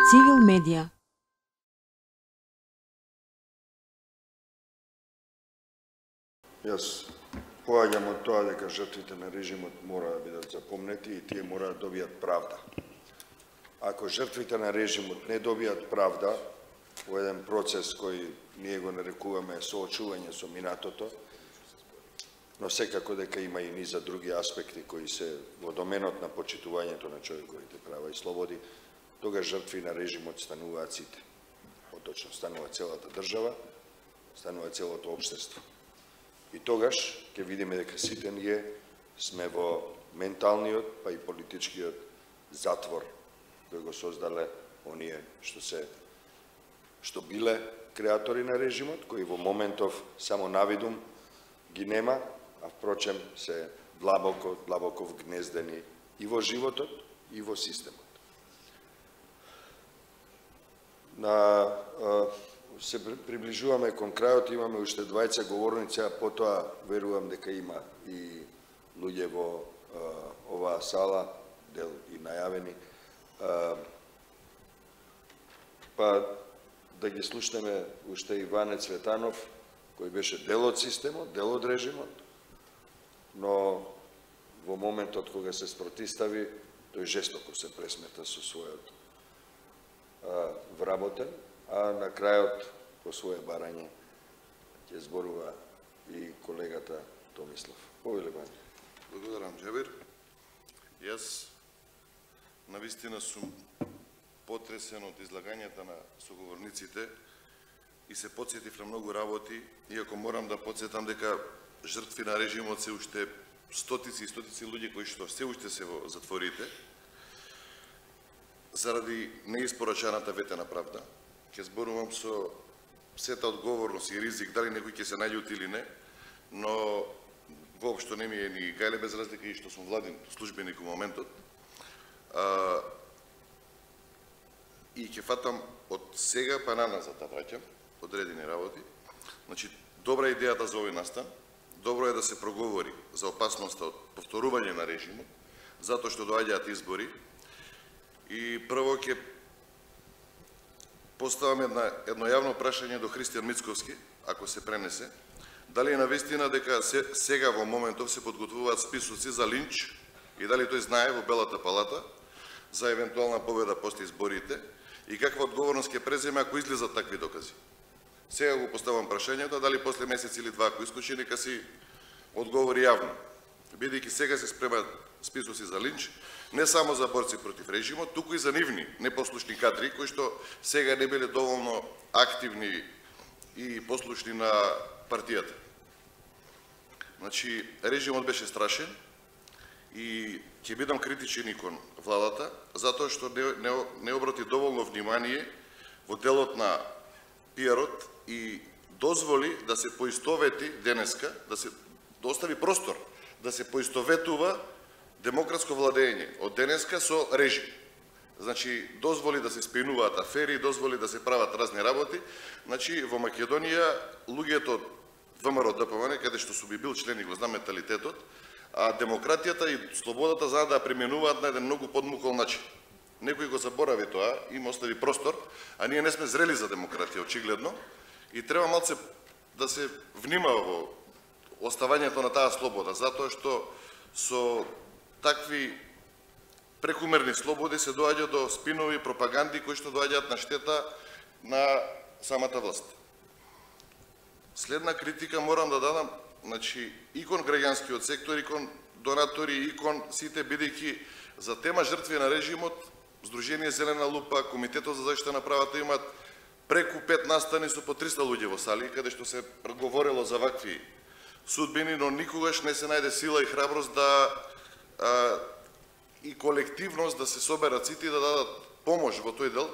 Цивил медија. Јас поаѓам од тоа дека жртвите на режимот мора да бидат запомнети и тие мора да добијат правда. Ако жртвите на режимот не добијат правда во еден процес кој ние го нарекуваме соочување со минатото, но секако дека има и низа други аспекти кои се во доменот на почитувањето на човековите права и слободи, тогаш жртви на режимот стануваат сите. Поточно станува целата држава, станува целото општество. И тогаш ќе видиме дека сите ние сме во менталниот, па и политичкиот затвор кој го создале оние што биле креатори на режимот, кои во моментов само навидум ги нема, а впрочем се длабоко вгнездени и во животот, и во системот. Се приближуваме кон крајот, имаме уште 20 говорници, а потоа верувам дека има и луѓе во оваа сала, дел и најавени, па да ги слушнеме уште Иване Цветанов, кој беше дел од системот, дел од режимот, но во моментот кога се спротистави, тој жестоко се пресмета со својот вработен, а на крајот по свое барање ќе зборува и колегата Томислав. Повеле Бања. Благодарам, Џебир. Јас навистина сум потресен од излагањата на соговорниците и се потсетив на многу работи, иако морам да потсетам дека жртви на режимот се уште стотици и стотици луѓе кои што се уште се во затворите заради неиспорачаната ветена правда. Ќе зборувам со сета одговорност и ризик, дали некој ќе се наљути или не, но воопшто не ми е ни гајле без разлика и што сум владин службеник во моментот. И ќе фатам од сега па наназад да враќам одредени работи. Значи, добра идејата за овој настан, добро е да се проговори за опасноста од повторување на режимот, затоа што доаѓаат избори. И прво ќе поставам едно јавно прашање до Христијан Мицковски, ако се пренесе, дали е навистина дека сега во моментов се подготвуваат списоци за линч и дали тој знае во Белата палата за евентуална победа после изборите и каква одговорност ќе преземе ако излезат такви докази. Сега го поставам прашањето, дали после месец или два ако исклучи, нека си одговори јавно. Бидејќи сега се спремаат списоци за линч, не само за борци против режимот, туку и за нивни непослушни кадри, кои што сега не биле доволно активни и послушни на партијата. Значи, режимот беше страшен и ќе бидам критичен и кон владата, затоа што не обрати доволно внимание во делот на пиарот и дозволи да се поистовети денеска, да се остави простор да се поистоветува демократско владење од денеска со режим. Значи, дозволи да се спинуваат афери, дозволи да се прават разни работи. Значи, во Македонија, луѓето од ВМРО ДПМН, каде што сум бил член и го знам менталитетот, а демократијата и слободата знаат да применуваат на еден многу подмукол начин. Некој го заборави тоа, им остави простор, а ние не сме зрели за демократија, очигледно, и треба малце да се внимава во оставањето на таа слобода, затоа што со такви прекумерни слободи се доаѓа до спинови и пропаганди кои што доаѓаат на штета на самата власт. Следна критика морам да дадам, значи, и кон граѓанскиот сектор, и кон донатори, и кон сите, бидејќи за тема жртви на режимот, Сдружение Зелена лупа, Комитетот за заштита на правата имаат преку 5 настани со по 300 луѓе во сали, каде што се говорело за вакви судбини, но никогаш не се најде сила и храброст и колективност да се соберат сите и да дадат помош во тој дел.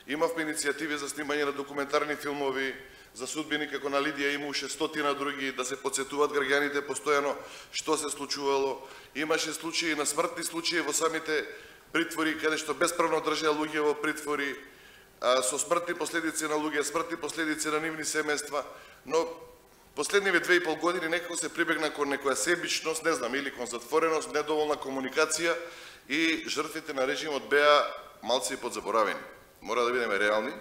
Имавме иницијативи за снимање на документарни филмови, за судбини како на Лидија и имаше стотина други, да се потсетуваат граѓаните постојано што се случувало. Имаше случаи на смртни случаи во самите притвори, каде што бесправно држеа луѓе во притвори, со смртни последици на луѓе, смртни последици на нивни семејства, но последниве 2,5 години некако се прибегна кон некоја себичност, не знам, или кон затвореност, недоволна комуникација и жртвите на режимот беа малци подзаборавени. Мора да бидеме реални.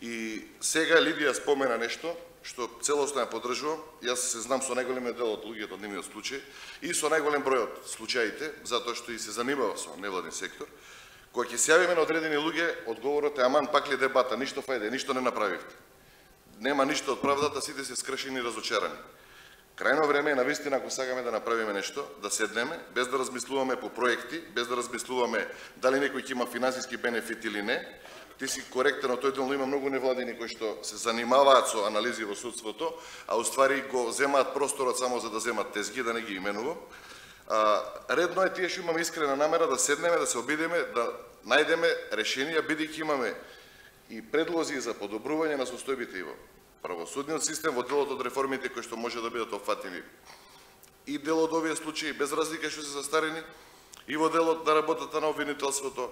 И сега Лидија спомена нешто што целосно ја поддржувам. Јас се знам со најголемиот дел од луѓето од нивниот случај и со најголем број од случаите, затоа што и се занимава со невладин сектор. Кога ќе се јавиме на одредени луѓе, одговорот е аман пак ли дебата, ништо фајде, ништо не направивте. Нема ништо од правдата, сите се скршени и разочарани. Крајно време е навистина, ако сакаме да направиме нешто, да седнеме, без да размислуваме по проекти, без да размислуваме дали некој ќе има финансиски бенефит или не. Ти си коректен, тој делно има многу невладини кои што се занимаваат со анализи во судството, а уствари го земаат просторот само за да земат тезги, да не ги именувам. Редно е тие што имаме искрена намера да седнеме, да се обидеме, да најдеме решенија, бидејќи имаме и предлози за подобрување на состојбите и во правосудниот систем, во делот од реформите кои што може да бидат опфатени и дел од овие случаи, без разлика што се застарени, и во делот на работата на обвинителството,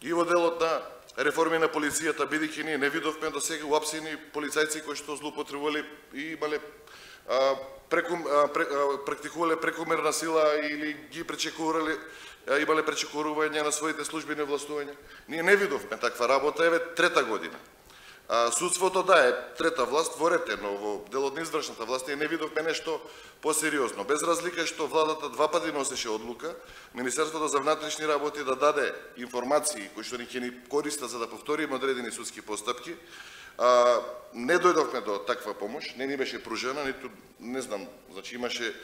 и во делот на реформи на полицијата, бидејќи ние не видовме до сега уапсени полицајци кои што злоупотребувале и имале практикувале прекомерна сила или ги пречекувале, имале пречекорување на своите службени властувања. Ние не видовме таква работа, еве трета година. Судството да е трета власт во ред, но во делот на извршната власт ние не видовме нешто посериозно. Без разлика што владата два пати носеше одлука, Министерството за внатрешни работи да даде информации кои што ќе ни користат за да повториме одредени судски постапки. Не дојдовме до таква помош, не ни беше пружена, ниту не знам, значи имаше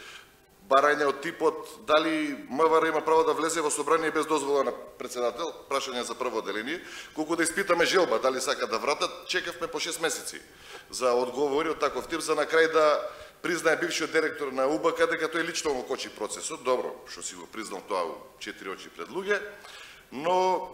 барање од типот дали МВР има право да влезе во собрание без дозвола на председател, прашање за прво одделение, колку да испитаме желба дали сака да вратат, чекавме по 6 месеци за одговори од таков тип, за на крај да признае бившиот директор на УБК дека тој лично го кочи процесот. Добро, што си го признал тоа у 4 очи пред луѓе, но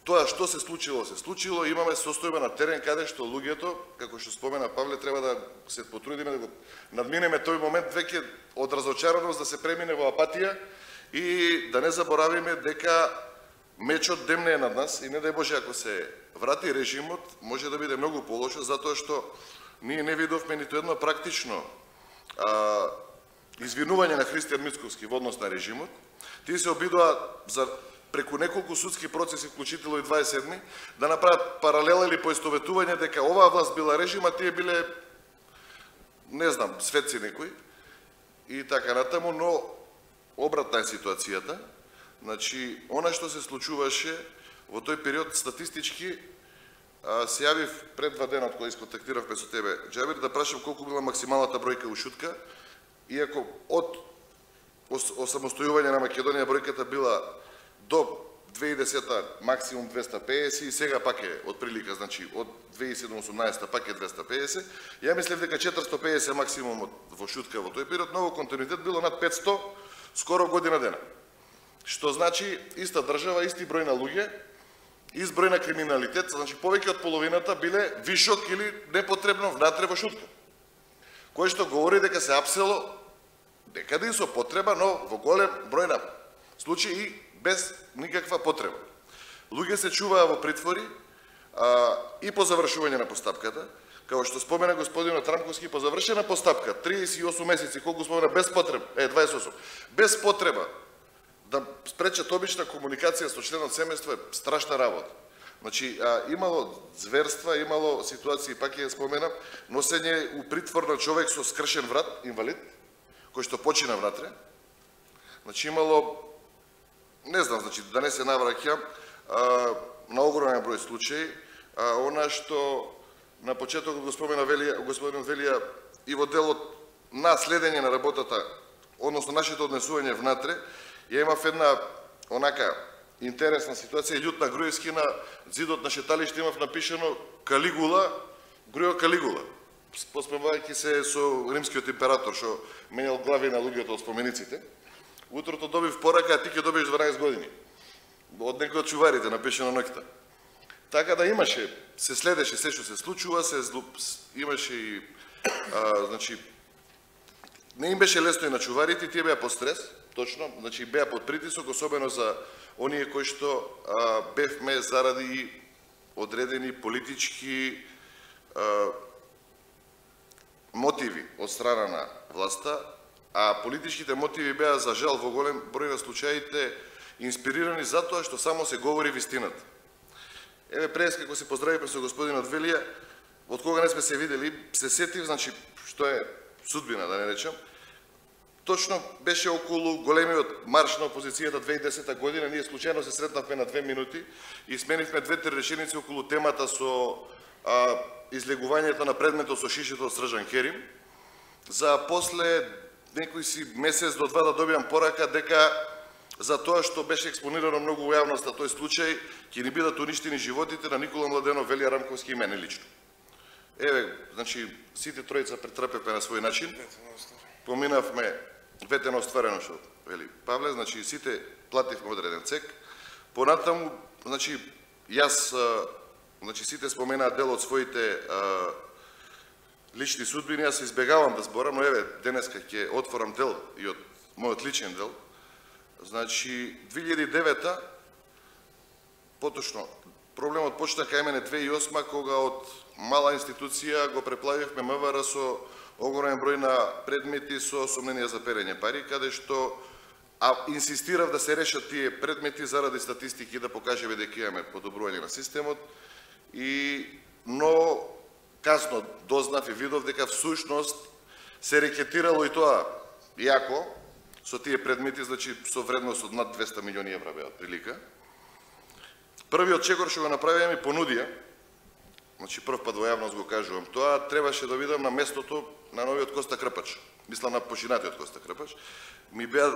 тоа што се случило, имаме состојба на терен каде што луѓето, како што спомена Павле, треба да се потрудиме да го надминеме тој момент веќе од разочараност да се премине во апатија и да не заборавиме дека мечот демне е над нас и не дај Боже ако се врати режимот, може да биде многу полошо, затоа што ние не видовме ниту едно практично извинување на Христијан Мицковски во однос на режимот. Тие се обидоа за преку неколку судски процеси, вклучително и 27-ми, да направат паралела или поистоветување дека оваа власт била режим, а тие биле, не знам, светци некои и така натаму, но обратна е ситуацијата. Значи, она што се случуваше во тој период статистички, се јавив пред 2 дена од кога исконтактиравме со тебе, Џабир, да прашам колку била максималната бројка ушутка, иако од осамостојување на Македонија бројката била до 2010-та максимум 250 и сега пак е од прилика, значи од 2017-та пак е 250. Ја мислев дека 450 максимум во шутка во тој период, но во континуитет било над 500 скоро година дена. Што значи иста држава, исти број на луѓе, ист број на криминалитет, значи повеќе од половината биле вишок или непотребно внатре во шутка. Кој што говори дека се апсело некаде и со потреба, но во голем број на случаи и без никаква потреба. Луѓе се чуваа во притвори и по завршување на постапката, како што спомена господинот Трамковски, по завршена постапка 38 месеци, колку спомена без потреба, 28, без потреба да спречат обична комуникација со членот семејство е страшна работа. Значи, имало зверства, имало ситуации, пак ја споменам, носење у притвор на човек со скршен врат, инвалид, кој што почина внатре. Значи, имало, не знам, значи, да не се навраќам, на огромен број случаи, она што на почетокот го спомена господинот Велија и во делот на следење на работата, односно нашето однесување внатре, ја имав една онака интересна ситуација, Љутна Груевски на зидот на шеталиште имав напишано Калигула, Груево Калигула, посмевајќи се со римскиот император што менјал глави на луѓето од спомениците. Утрото добив порака, а ти ќе добиеш 12 години. Од некој од чуварите напишано ноќта. Така да имаше, се следеше се што се случува, имаше и значи не им беше лесно и на чуварите, тие беа под стрес, точно, значи беа под притисок, особено за оние кои што бевме заради одредени политички мотиви од страна на власта, а политичките мотиви беа за жал во голем број на случаите инспирирани затоа што само се говори вистината. еве пред како се поздравивме со господинот Велија, од кога не сме се видели, се сетив, значи, што е судбина, да не речем, точно беше околу големиот марш на опозицијата 2010 година, ние случајно се сретнавме на 2 минути и сменивме 2-3 реченици околу темата со излегувањето на предметот со шишето од Срđan Керим, за после некој си месец до 2 да добиам порака дека за тоа што беше експонирано многу во јавноста тој случај, ќе ни бидат уништени животите на Никола Младенов, Велија Рамковски и мене лично. Еве, значи, сите тројца претрпевме на свој начин. Поминавме ветено остварено што вели Павле, значи сите плативме одреден цек. Понатаму, значи, јас, значи сите споменаат дел од своите лични судбини, јас избегавам да зборам, но еве, денеска ќе отворам дел и од мојот личен дел. Значи, 2009-та, поточно, проблемот почна кај мене 2008-та, кога од мала институција го преплавивме МВР со огромен број на предмети со сомненија за перење пари, каде што инсистирав да се решат тие предмети заради статистики да покажеме дека имаме подобрување на системот но касно дознав и видов дека всушност се рекетирало и тоа јако со тие предмети, значи со вредност од над 200 милиони евра беа прилика. Првиот чекор што го направија ми понудија, значи прв пат во јавност го кажувам тоа, требаше да видам на местото на новиот Коста Крпач, мислам на починатиот Коста Крпач, ми беа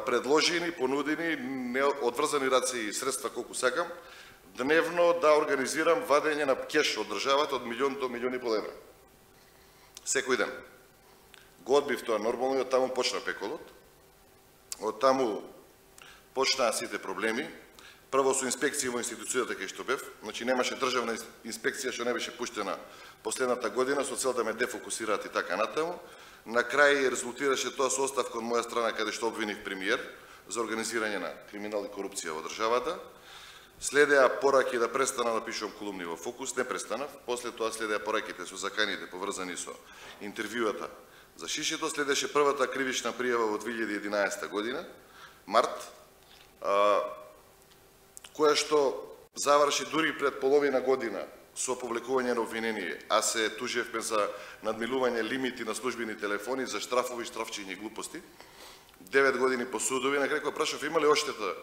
предложени, понудени, одврзани раци и средства колку сакам, дневно да организирам вадење на кеш од државата од 1 до 1,5 милиони евра. Секој ден. Го одбив тоа нормално и од таму почна пеколот. Од таму почнаа сите проблеми. Прво со инспекција во институцијата кај што бев, значи немаше државна инспекција што не беше пуштена последната година со цел да ме дефокусираат и така натаму. На крај резултираше тоа со оставка од моја страна каде што обвиних премиер за организирање на криминал и корупција во државата. Следеа пораки да престана да пишувам колумни во Фокус, не престанав. После тоа следеа пораките со заканите поврзани со интервјуата за шишето. Следеше првата кривична пријава во 2011 година, март, која што заврши дури пред половина година со публикување на обвинение, а се тужевме за надмилување лимити на службени телефони, за штрафови, штрафчиња и глупости. 9 години по судови, на крај кога прашав има ли оштета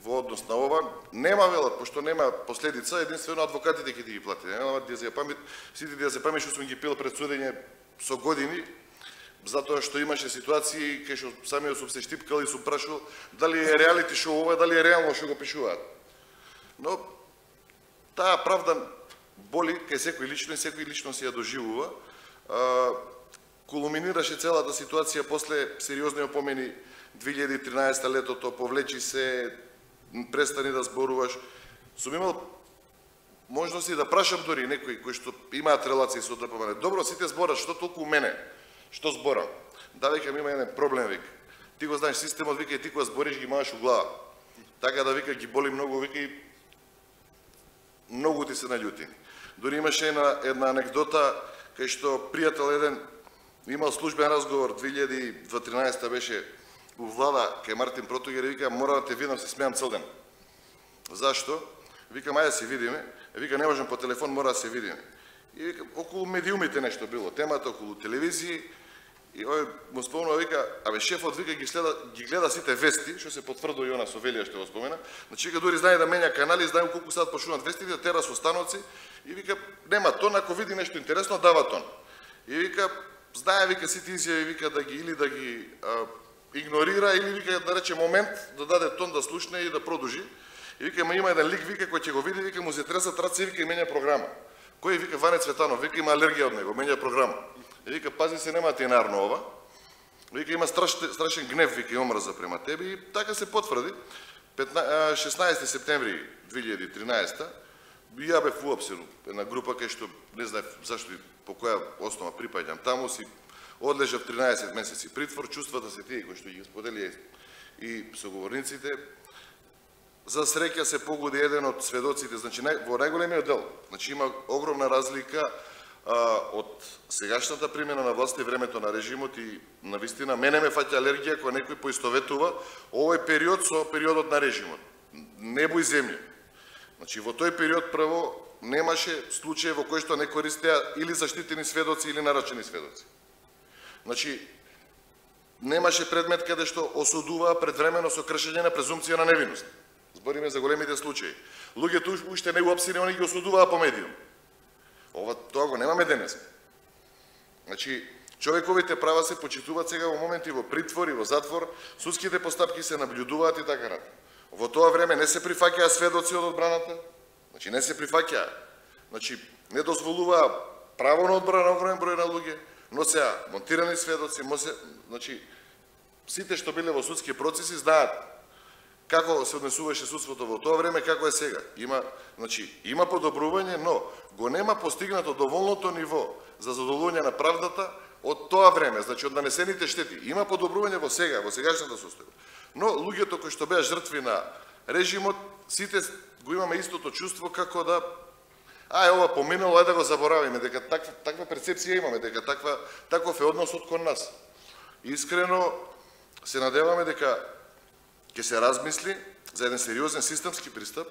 во однос на ова, нема велат, пошто нема последица, единствено адвокатите ќе ги плати. Нема диазепамит, сите диазепамит што сум ги пил пред судење со години, затоа што имаше ситуации кај што самиот сум се штипкал и сум прашал дали е реалити шоу ова, дали е реално што го пишуваат. Но таа правда боли кај секој лично и секој лично си ја доживува. Кулминираше целата ситуација после сериозни опомени 2013 летото, повлечи се, престани да зборуваш. Сум имал можности да прашам дори некои кои што имаат релации со ДПМН. Добро, сите зборат, што толку мене? Што зборам? Да, викам, има еден проблем, вика. Ти го знаеш системот, вика, и ти кога збориш ги мааш у глава. Така да, вика, ги боли многу, вика, и многу ти се наљути. Дори имаше една анекдота, кај што пријател еден имал службен разговор 2013 беше у влада кај Мартин Протогер и вика, мора да те видам, се смеам цел ден. Зашто? Вика, ајде се видиме. Вика, не можам по телефон, мора да се видиме. И вика, околу медиумите нешто било, темата околу телевизии, и ој му спомнува, вика, абе шефот, вика, ги гледа сите вести, што се потврдува и она со Велија што го спомена, значи вика, дури знае да менја канали, знае колку сад почнуваат вестите, тера со становци, и вика, нема тон, ако види нешто интересно, дава тон. И вика, знае, вика, сите изјави, вика, да ги, или да ги игнорира, или вика, да рече момент, да даде тон, да слушне и да продужи. И вика, има еден лик, вика, кој ќе го види, вика, му се тресат раци, вика, и менја програма. Кој, вика, Ване Цветанов, вика, има алергија од него, менја програма. И вика, пази се, нема тенарно ова. Вика, има страшен гнев, вика, и омрза према тебе, и така се потврди. 16 септември 2013 ја бев уапсен една група кај што не знаев зашто и по која основа припаѓам таму, си одлежав 13 месеци притвор, чувствата се тие кои што ги сподели и соговорниците. За среќа се погоди еден од сведоците, значи во најголемиот дел, значи има огромна разлика од сегашната примена на власта и времето на режимот и навистина мене ме фаќа алергија кога некој поистоветува овој период со периодот на режимот. Небо и земја. Значи, во тој период прво немаше случаи во кои што не користеа или заштитени сведоци или нарачени сведоци. Значи, немаше предмет каде што осудуваа предвремено со кршење на презумпција на невиност. Збориме за големите случаи. Луѓето уште не уапсени, они ги осудуваа по медиум. Тоа го немаме денес. Значи, човековите права се почитуваат сега во моменти во притвор и во затвор, судските постапки се наблюдуваат и така натаму. Во тоа време не се прифаќаа сведоци од одбраната, значи не се прифаќаа, значи не дозволуваа право на одбрана огромен број на луѓе, но сега монтирани сведоци, значи сите што биле во судски процеси знаат како се однесуваше судството во тоа време, како е сега. Има подобрување, но го нема постигнато доволното ниво за задоволување на правдата од тоа време, значи од нанесените штети. Има подобрување во сегашната состојба. Но луѓето кои што беа жртви на режимот, сите го имаме истото чувство како да ова поминало, да го заборавиме, дека таква перцепција имаме, дека таков е односот кон нас. Искрено се надеваме дека ќе се размисли за еден сериозен системски пристап,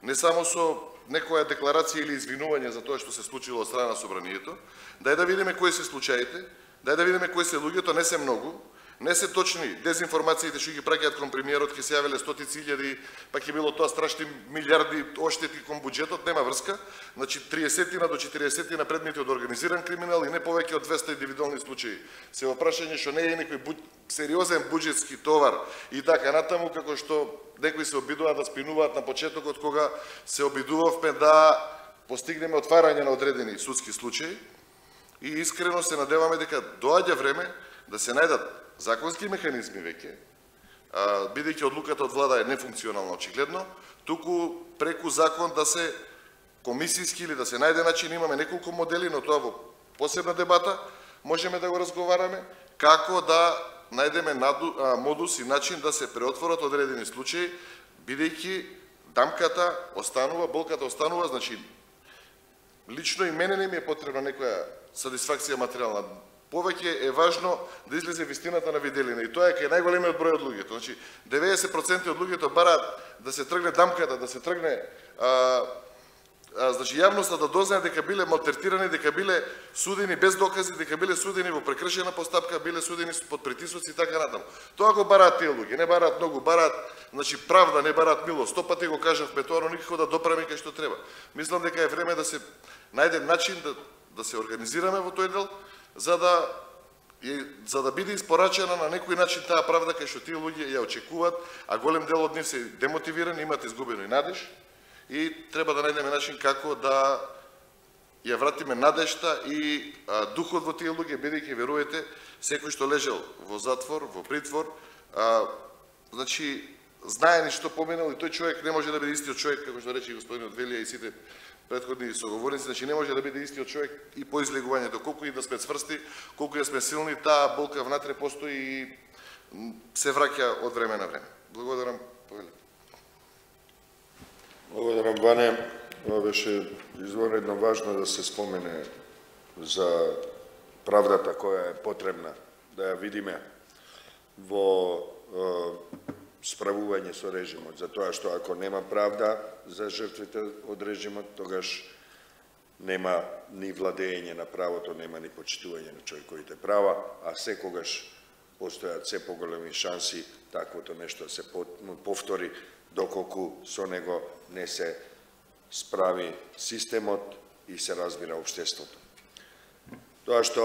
не само со некоја декларација или извинување за тоа што се случило од страна на собранието, да видиме кои се случаите, да видиме кои се луѓето, не се многу, не се точни дезинформациите што ги праќаат кон премиерот, ќе се јавеле стотици илјади, па ќе било тоа страшни милиарди оштети кон буџетот, нема врска. Значи 30 до 40 предмети од организиран криминал и не повеќе од 200 индивидуални случаи. Се во прашање што не е некој сериозен буџетски товар и така натаму, како што некои се обидуваат да спинуваат на почетокот кога се обидувавме да постигнеме отварање на одредени судски случаи. И искрено се надеваме дека доаѓа време да се најдат законски механизми веќе, бидејќи одлуката од влада е нефункционална очигледно, туку преку закон да се комисиски или да се најде начин, имаме неколку модели, но тоа во посебна дебата можеме да го разговараме, како да најдеме модус и начин да се преотворат одредени случаи, бидејќи дамката останува, болката останува, значи лично и мене не ми е потребна некоја сатисфакција материјална. Повеќе е важно да излезе вистината на виделина и тоа е кај најголемиот број од луѓето. Значи 90% од луѓето бараат да се тргне дамката, да се тргне значи јавноста да дознае дека биле малтретирани, дека биле судени без докази, дека биле судени во прекршена постапка, биле судени под притисоци и така натаму. Тоа го бараат тие луѓе, не бараат многу, бараат значи правда, не бараат милост. 100 пати го кажавме тоа, но никако да допреме кај што треба. Мислам дека е време да се најде начин да се организираме во тој дел, за да биде испорачена на некој начин таа правда кај што тие луѓе ја очекуваат, а голем дел од нив се демотивирани, имаат изгубено и надеж, и треба да најдеме начин како да ја вратиме надежта и духот во тие луѓе, бидејќи верувате, секој што лежал во затвор, во притвор, значи знае ни што поминал и тој човек не може да биде истиот човек, како што рече господинот Велија и сите претходни соговорници, значи не може да биде истиот човек и по излегувањето, колку и да сме цврсти, колку и да сме силни, таа болка внатре постои и се враќа од време на време. Благодарам, повелете. Благодарам, Ване. Ова беше извонредно важно да се спомене за правдата која е потребна да ја видиме во справување со режимот, затоа што ако нема правда за жртвите од режимот, тогаш нема ни владење на правото, нема ни почитување на човековите права, а секогаш постојат се поголеми шанси таквото нешто се повтори, доколку со него не се справи системот и се разбира општеството. Тоа што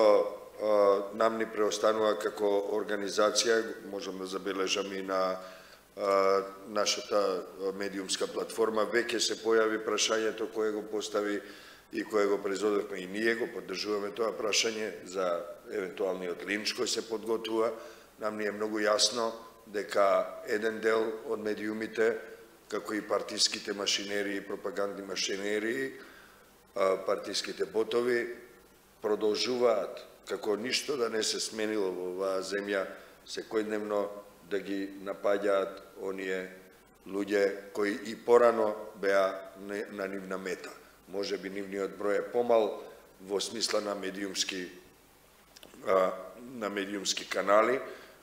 нам ни преостанува како организација, можам да забележам и на нашата медиумска платформа, веќе се појави прашањето кое го постави и кое го производевме и ние го поддржуваме тоа прашање за евентуалниот линч кој се подготвува. Нам ни е многу јасно дека еден дел од медиумите, како и партиските машинерии, пропагандни машинерии, партиските ботови, продолжуваат, како ништо да не се сменило во оваа земја, секојдневно да ги напаѓаат оние луѓе кои и порано беа на нивна мета. Може би нивниот број е помал во смисла на медиумски канали,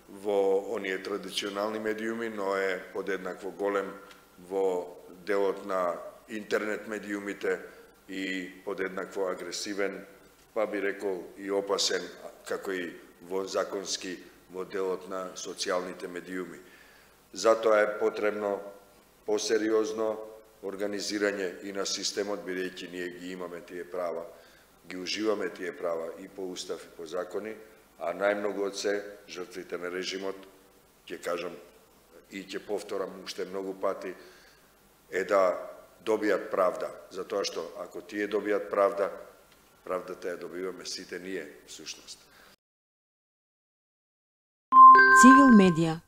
во оние традиционални медиуми, но е подеднакво голем во делот на интернет медиумите и подеднакво агресивен, па би рекол и опасен, како и во законски во делот на социјалните медиуми. Затоа е потребно посериозно организирање и на системот, бидејќи ние ги имаме тие права, ги уживаме тие права и по устав и по закони, а најмногу од се жртвите на режимот, ќе кажам и ќе повторам уште многу пати, е да добијат правда, затоа што ако тие добијат правда, правдата ја добиваме сите ние, всушност. Цивил медија